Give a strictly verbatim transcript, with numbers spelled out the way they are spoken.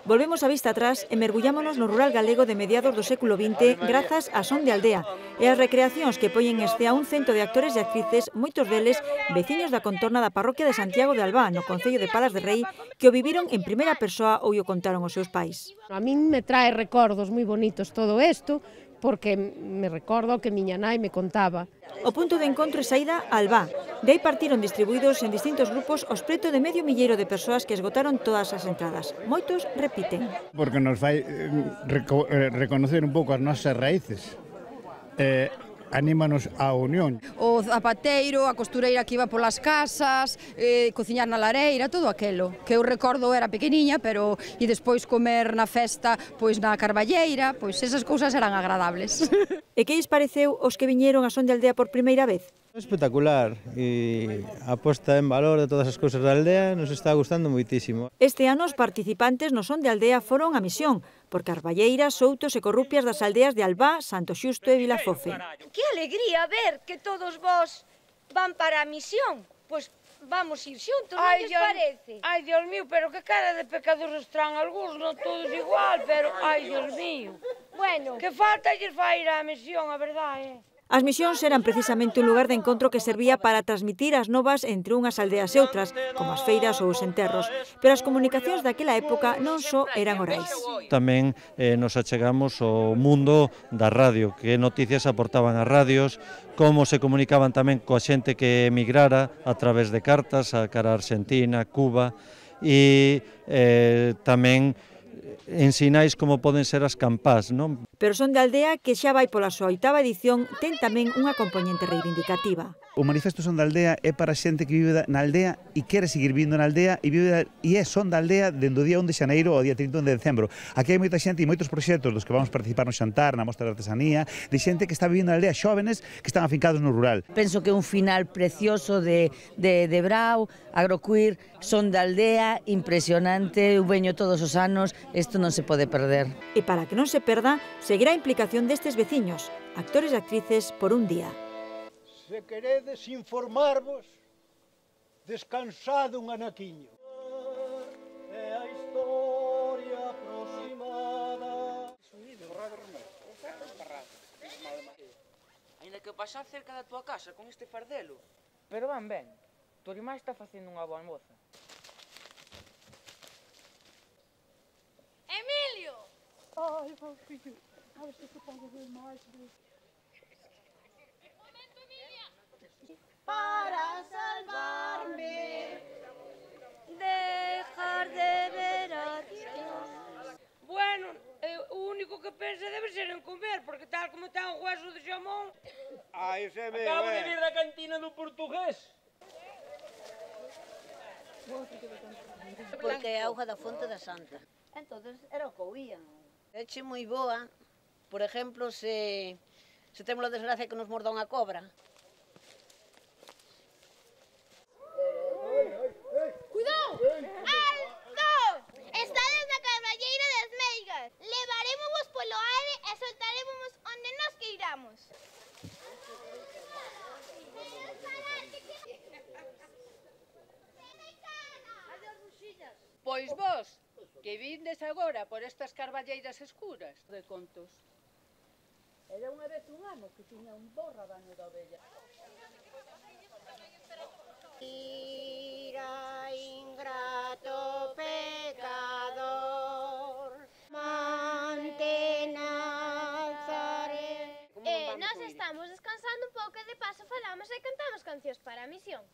Volvemos a vista atrás e mergullámonos no rural galego de mediados do século vinte grazas a Son de Aldea e as recreacións que poñen en escena un cento de actores e actrices, moitos deles veciños da contorna da parroquia de Santiago de Albá, no concello de Palas de Rei, que o viviron en primeira persoa ou o contaron os seus pais. A min me trae recordos moi bonitos todo isto, porque me recordo que miña nai me contaba. O punto de encontro é saída a Albá. De aí partiron distribuídos en distintos grupos os preto de medio milleiro de persoas que esgotaron todas as entradas. Moitos repiten. Porque nos vai reco reconocer un pouco as nosas raíces. Eh, anímanos á unión. O zapateiro, a costureira que iba polas casas, eh, cociñar na lareira, todo aquelo. Que eu recordo era pequeniña, pero e despois comer na festa, pois na carballeira, pois esas cousas eran agradables. E que lles pareceu os que viñeron a Son de Aldea por primeira vez? Espectacular, e a posta en valor de todas as cousas da aldea nos está gustando moitísimo. Este ano os participantes no Son de Aldea foron a misión, por carballeiras, soutos e corrupias das aldeas de Albá, Santo Xusto e Vilafofe. Que alegría ver que todos vos van para a misión. Pois vamos ir xuntos, non lles parece? Ai, Dios mío, pero que cara de pecadores traen algúns, non todos igual, pero, ai, Dios mío. Bueno, Que falta lles vai ir á misión, a verdade, eh? As misións eran precisamente un lugar de encontro que servía para transmitir as novas entre unhas aldeas e outras, como as feiras ou os enterros, pero as comunicacións daquela época non só eran orais. Tamén eh, nos achegamos ao mundo da radio, que noticias aportaban as radios, como se comunicaban tamén coa xente que emigrara a través de cartas a cara a Argentina, Cuba, e eh, tamén en sinais como poden ser as campás, non? Pero Son de Aldea, que xa vai pola súa oitava edición, ten tamén unha componente reivindicativa. O Manifesto Son da Aldea é para xente que vive na aldea e quere seguir vivindo na aldea e vive e é Son da Aldea dende o día un de xaneiro ao día trinta e un de decembro. Aquí hai moita xente e moitos proxectos dos que vamos participar no xantar, na mostra de artesanía, de xente que está vivindo na aldea, xóvenes que están afincados no rural. Penso que é un final precioso de, de, de Brau, Agrocuir, Son da Aldea, impresionante, eu veño todos os anos, isto non se pode perder. E para que non se perda, seguirá a implicación destes veciños, actores e actrices por un día. Se queredes informarvos, descansad un anaquiño. É a historia aproximada. Ainda que pasar cerca da tua casa con este fardelo. Pero van ben, tu irmá está facendo unha boa moza. Emilio! Ai, meu fillo, a ver se te podo ver máis vezes. Para salvarme, dejar de ver a Dios. Bueno, eh, o único que pensa debe ser en comer, porque tal como está un hueso de xamón... Ai, se me Acabo de vir da cantina do portugués. Porque é auga da fonte da Santa. Entonces era o que oían. Eche moi boa, por exemplo, se, se temos a desgracia que nos morda unha cobra. Levarémosvos polo aire e soltarémosvos onde nos queiramos. Pois vos, que vindes agora por estas carballeiras escuras de contos. Era unha vez un ano que tiña un bo rabaño de ovella. Ira ingrato pecador, mantén alzaré. Eh, nós estamos descansando un pouco e de paso falamos e cantamos cancións para a misión.